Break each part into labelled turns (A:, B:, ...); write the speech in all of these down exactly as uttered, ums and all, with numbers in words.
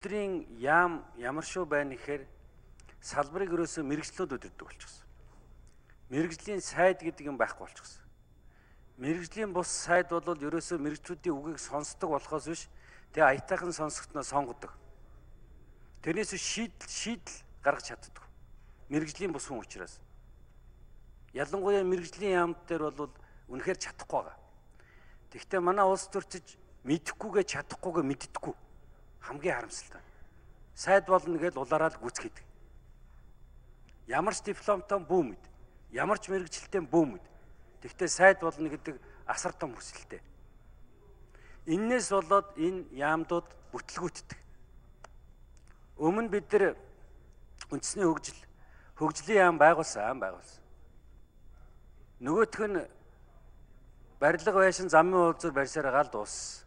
A: өдрийн яам ямар шүү байна гэхээр салбарыг ерөөсөө мэрэгчлүүд өдөрдөг болчихсон. Мэрэгжлийн сайд гэдэг юм байхгүй болчихсон. Мэрэгжлийн бус сайд бол ерөөсөө мэрэгчлүүдийн үгийг сонсдог болохоос биш тэгээ аятайхан сонсогдноо сонгодог. Тэрнээс шийдэл шийдэл гаргаж чаддаг. Мэрэгжлийн бус хүн учраас. Ялангуяа мэрэгжлийн яамд дээр бол үнэхээр чадахгүй байгаа. Тэгэхдээ манай улс төрчиж мэдэхгүйгээ чадахгүйгээ мэддэггүй. Хамгийн харамсалтай. Сайд болно гэж улаараа л гүцгээд. Ямар ч дипломтой бүү мэд. Ямар ч мэрэгчлэлтэй бүү мэд. Тэгэхдээ сайд болно гэдэг асар том хүсэлтэй. Иннээс болоод энэ яамдууд бүтлгүүтдэг. Өмнө бид нар үндэсний хөгжил, хөгжлийн яам байгуулсан, байгуулсан. Нөгөөх нь барилга байшин замын уулзуур барьсаар гал дууссан.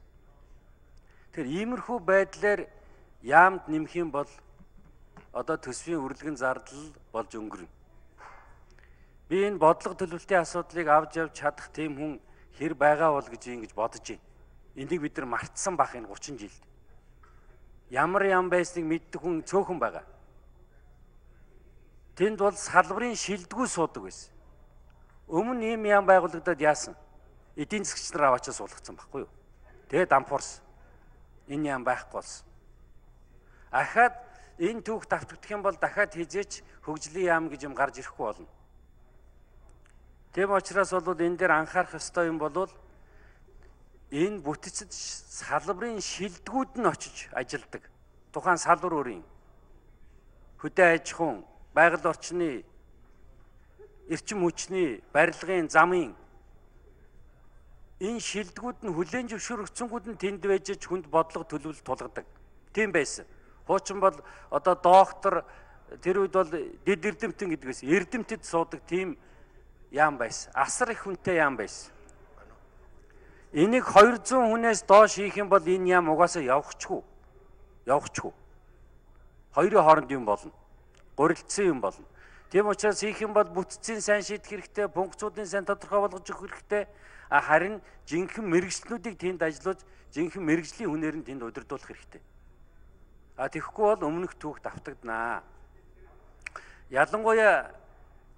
A: Тэр иймэрхүү байдлаар яамд нэмэх юм бол одоо төсвийн үргэлгэн зардал болж өнгөрнө. Би энэ бодлого төлөвлөлтийн асуудлыг авч явж чадах тийм хүн хэр байгаа бол гэж ингэж бодож байна. Энийг бид нар мартсан бах энэ гучин жилд. Ямар ям байсныг мэддэг хүн цөөхөн байгаа. Тэнд бол салбарын шилдэггүй суудаг байсан. Өмнө ийм ям байгуулагдаад яасан? Эдийн засгч нар аваачаа суулгацсан байхгүй юу? Тэгээ дампуурсан. Энэ ям байхгүй болсон. Ахаад энэ түүх давтагдах юм бол дахиад хизээч хөгжлийн яам гэж юм гарч ирэхгүй болно. Тэм учраас бол энэ дээр анхаарах ёстой юм бол энэ бүтцэд салбарын шилдэгүүд нь очиж ажилдаг. Тухайн салбар өөрийн хөдөө аж ахуйн, байгаль орчны, эрчим хүчний, барилгын, замын энэ шилдэгүүд нь хүлээн зөвшөөрөгдсөнгүүд нь тэнд байж хүнд бодлого төлөвлөлт тулгадаг. Тийм байсан. Хуучин бол одоо доктор тэр үед бол дэд эрдэмтэн гэдгээс эрдэмтэд суудаг тийм яам байсан. Асар их хүнтэй яам байсан. Энийг хоёр зуун хүнээс доош хийх юм бол энэ яам угаасаа явахчгүй. Явахчгүй. Хоёрын хооронд юм болно. Гурилдсан юм болно. Тийм учраас хийх юм бол бүтцийн сайн шийдэх хэрэгтэй, функцүүдийн сайн тодорхой болгож өгөх хэрэгтэй. Харин жинхэнэ мэрэгчлүүдийг тэнд ажиллаж, жинхэнэ мэрэгжлийн хүнээр нь тэнд удирдуулах хэрэгтэй. А тэгэхгүй бол өмнөх түүх давтагдана. Ялангуяа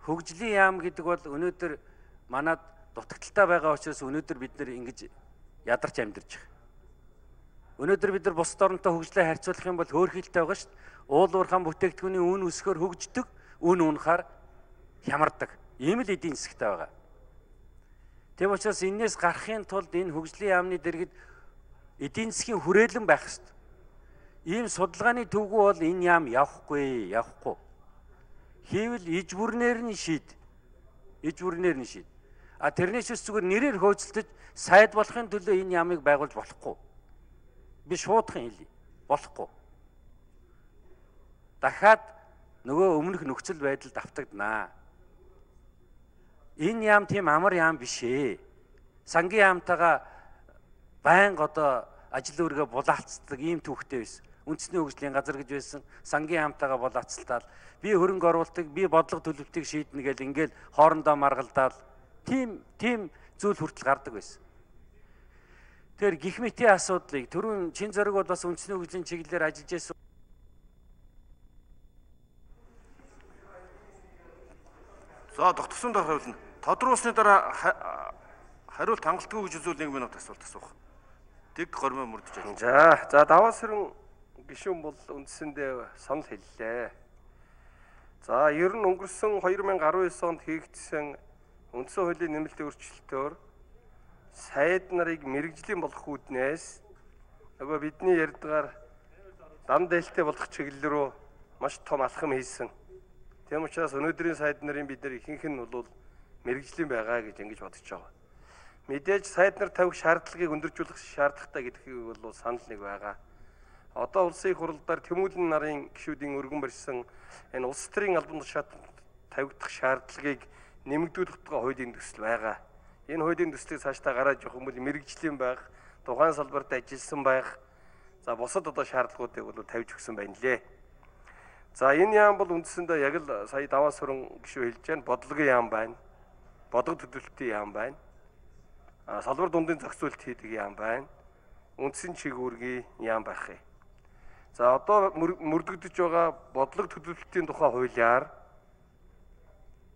A: хөгжлийн яам гэдэг бол өнөөдөр манад дутагдaltaй байгаа учраас өнөөдөр бид нэр ингэж ядарч амьдарч байгаа. Өнөөдөр бид нар бусад оронтой хөгжлөө харьцуулах юм бол хөөрхилтэй байгаа шүү дээ. Уул уурхайн бүтээгдэхүүний үн өсгөр хөгждөг, үн унахаар хямардаг. Ийм л эдийн засгтай байгаа. Тэв учраас энээс гарахын тулд энэ хөгжлийн яамны дэргэд эдийн засгийн хүрээлэн байх ёстой. Ийм судалгааны төвгүү бол энэ яам явахгүй, явахгүй. Хийвэл иж бүрнээр нь шийд. Иж бүрнээр нь шийд. А тэрнээс зүгээр нэрээр хөөцөлдөж сайд болохын төлөө энэ яамыг байгуулж болохгүй. Би шуудхан хэлье. Болохгүй. Дахиад нөгөө өмнөх нөхцөл байдал давтагдана. Энэ яам тийм амар яам биш ээ. Сангийн яамтайгаа байнга одоо ажил үүргээ булаацдаг ийм түүхтэй байсан. Үндэсний хөгжлийн газар гэж байсан. Сангийн яамтайгаа булаацтал би хөрөнгө оруулалтыг, би бодлого төлөвлөлтийг шийднэ гэл ингээл хоорондоо маргалдаал тийм тийм зүйл хүртэл гардаг байсан. Тэр гих мэтийн асуудлыг түрүүн чин зориг бол бас үндэсний хөгжлийн чиглэлээр ажиллаж байсан.
B: За тогтсон дараа хариулна. Тодруулсны дараа хариулт хангалтгүй гэж үзвэл нэг минут асуулт асуух. Тэг гормоо мөрдөж байна.
C: За, за даваа сэрэн гишүүн бол үндсэндээ санал хэллээ. За, ер нь өнгөрсөн хоёр мянга араван девять онд хийгдсэн үндсэн хуулийн нэмэлтийн өөрчлөлтөөр сайд нарыг мэрэгжлийн болгох үүднээс нөгөө бидний ярьдгаар дан дээлтэй болгох чиглэл рүү маш том алхам хийсэн. Тийм учраас өнөөдрийн сайд нарын бид нар ихэнх нь бол мэрэгжлийн байгаа гэж ингэж бодож байгаа. Мэдээж сайд нар тавих шаардлагыг өндөржүүлэх шаардлагатай гэдгийг бол санал нэг байгаа. Одоо улсын их хурлаар Тэмүүлэн нарын гишүүдийн өргөн барьсан энэ улс төрийн албан тушаалд тавигдах шаардлагыг нэмэгдүүлэх тухай хуулийн төсөл байгаа. Энэ хуулийн төслийг цаашдаа гаргаж явах юм бол мэрэгжлийн байх, тухайн салбарт ажилласан байх, за бусад одоо шаардлагуудыг бол тавьж өгсөн байна лээ. За энэ яам бол үндсэндээ яг л сая даваа сүрэн гишүү хэлж байна. Бодлогын яам байна. Бодлого төлөвлөлтийн яам байна. А салбар дундын зохицуулт хийдэг яам байна. Үндсэн чигүүргийн яам байх юм. За одоо мөрдөгдөж байгаа бодлого төлөвлөлтийн тухай хуулиар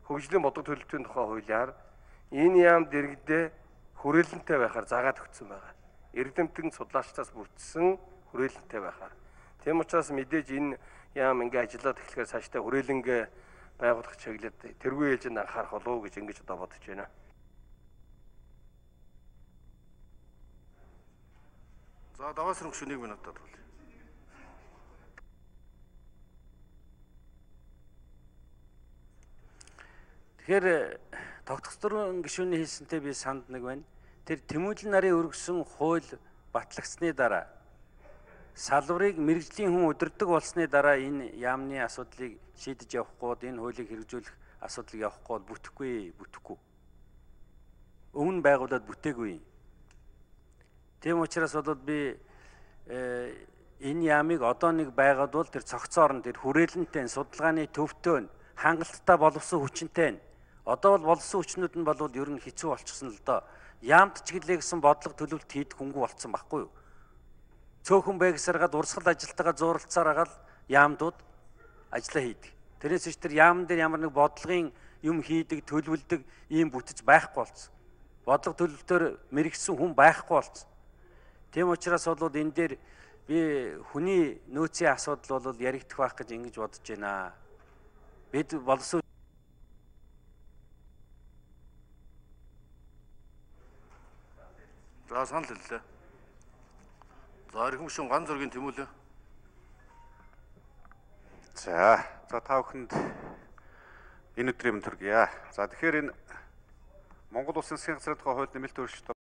C: хөгжлийн бодлого төлөвлөлтийн тухай хуулиар энэ яам дэргэдээ хүрээлэнтэй байхаар заагаад өгсөн байгаа. Эрдэмтэн судлаачдаас бүрдсэн хүрээлэнтэй байхаар. Тийм учраас мэдээж энэ яам ингээ ажиллаад эхлэхээр цаашдаа хүрээлэнгээ байгуулах чиглэлд тэргүй ээлжинд анхаарах болов уу гэж ингэж одоо бодож байна.
B: За даваас руу гүшүүнийг минутад бол.
A: Тэгэхээр тогтцорын гишүүний хэлсэнтэй би санд нэг байна. Тэр Тэмүүлэн нарын өргөсөн хууль батлагдсны дараа салбарыг мэрэгжлийн хүн удирдах болсны дараа энэ яамны асуудлыг шийдэж явахгүй, энэ хуулийг хэрэгжүүлэх асуудлыг явахгүй бол бүтэхгүй, бүтэхгүй. Өмнө байгуулад бүтээгүй. Тийм учраас бол би энэ яамыг одоо нэг байгуулвал тэр цогцоор нь тэр хүрээлэнтэй судалгааны төвтэй хангалттай боловсон хүчинтэй. Одоо бол боловсон хүчнүүд нь бол ер нь хэцүү болчихсон л доо. Яамд ч гэлээ гэсэн бодлого төлөвлөлт хийх хөнгө болцсон байхгүй юу? Цөөхөн байгсаргаад урсгал ажилтайгаа зууралцаар агаал яамдууд ажиллаа хийдэг. Тэрээс ч тэр яамн дээр ямар нэг бодлогын юм хийдэг, төлөвлөдөг ийм бүтэж байхгүй болцсон. Бодлого төлөвлөлтөөр мэрэгсэн хүн байхгүй болцсон. Тийм учраас бол энэ дээр би хүний нөөцийн асуудал бол яригдах байх гэж ингэж бодож байна. Бид боловсон
B: За санал хэллээ. За эрхэм гишүүн Ган зургийн Тэмүүлэн.
D: За, за та бүхэнд энэ өдрийн мэнд хүргье. За тэгэхээр энэ Монгол Улсын засгийн газрын тухай хууль нэмэлт өөрчлөлт